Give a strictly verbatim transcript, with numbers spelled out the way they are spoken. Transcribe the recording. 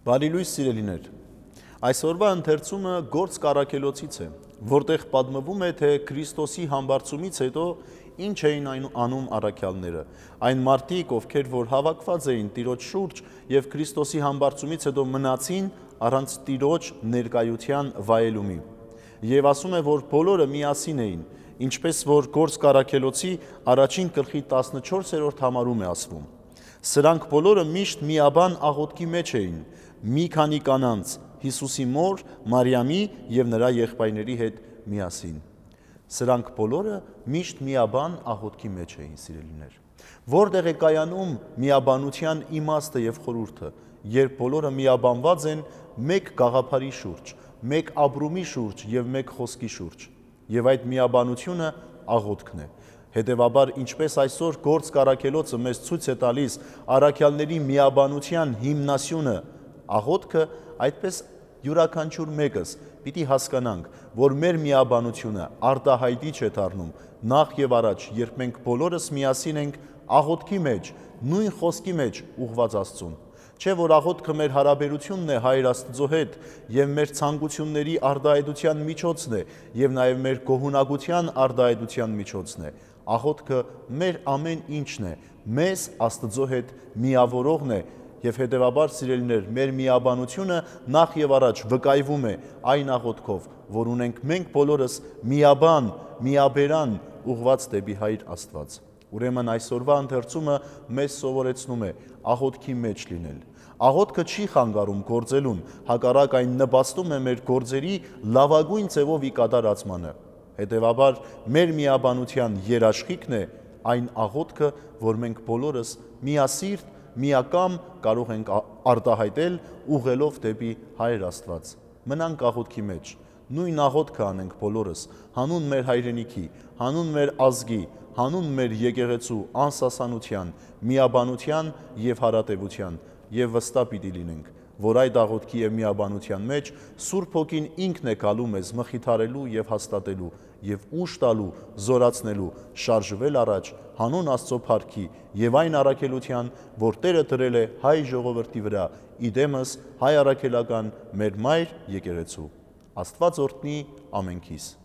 Բարի լույս սիրելիներ, այսօրվա ընթերցումը Գործ Առաքելոցից է, որտեղ պատմվում է, թե Քրիստոսի համբարձումից հետո ինչ էին անում առաքյալները, այն մարդիկ, ովքեր որ հավաքված էին Տիրոջ շուրջ և Քրիստոսի համբարձումից հետո մնացին առանց Տիրոջ ներկայության վայելումի։ Եվ ասում է, որ բոլորը միասին էին, ինչպես որ Գործ Առաքելոցի առաջին գլխի տասնչորսերորդ համարում է ասվում։ Սրանք բոլորը միշտ միաբան աղոթքի մեջ էին, մի քանի կանանց, Հիսուսի մոր, Մարիամի և նրա եղբայրների հետ միասին։ Սրանք բոլորը միշտ միաբան աղոթքի մեջ էին, սիրելիներ։ Որտեղ է կայանում միաբանության իմաստը և խորհուրդը, երբ բոլորը միաբանված են մեկ գաղափարի շուրջ, մեկ ապրումի շուրջ և մեկ խոսքի շուրջ, և այդ միաբանությունը աղոթքն է։ Հետևաբար, ինչպես այսօր Գործ Առաքելոցը մեզ ցույց է տալիս առաքյալների միաբանության հիմնասյունը աղոթքը, այդպես յուրաքանչյուր մեկս պիտի հասկանանք, որ մեր միաբանությունը արտահայտիչ է դառնում նախ և առաջ, երբ մենք բոլորս միասին ենք աղոթքի մեջ, նույն խոսքի մեջ ուղղված Աստծուն։ Չէ՞ որ աղոթքը մեր հարաբերությունն է Հայր Աստծո հետ և մեր ցանկությունների արտահայտության միջոցն է և նաև մեր գոհունակության արտահայտության միջոցն է։ Աղոթքը մեր ամեն ինչն է, մեզ Աստծո հետ միավորողն է և հետևաբար, սիրելիներ, մեր միաբանությունը նախ և առաջ վկայվում է այն աղոթքով, որ ունենք մենք բոլորս միաբան, միաբերան ուղղված դեպի Հայր Աստված։ Ուրեմն այսօրվա ընթերցումը մեզ սովորեցնում է աղոթքի մեջ լինել։ Աղոթքը չի խանգարում գործելուն, հակառակ այն նպաստում է մեր գործերի լավագույն ձևով ի կատարածմանը։ Հետևաբար, մեր միաբանության երաշխիքն է այն աղոթքը, որ մենք բոլորս միասիրտ, միակամ կարող ենք արտահայտել ուղղելով դեպի Հայր Աստված։ Մնանք աղոթքի մեջ, նույն աղոթքը անենք բոլորս, հանուն մեր հայրենիքի, հանուն մեր ազգի, հանուն մեր եկեղեցու անսասանության, միաբանության և հարատևության, և վստահ պիտի լինենք, որ այդ աղոթքի և միաբանության մեջ Սուրբ Հոգին ինքն է գալու մեզ մխիթարելու և հաստատելու և ուժ տալու, զորացնելու, շարժվել առաջ հանուն Աստծո փառքի և այն առաքելության, որ Տերը դրել է հայ ժողովրդի վրա, իդեմս հայ առաքելական մեր մայր եկեղեցու։ Աստված օրհնի ամենքիս։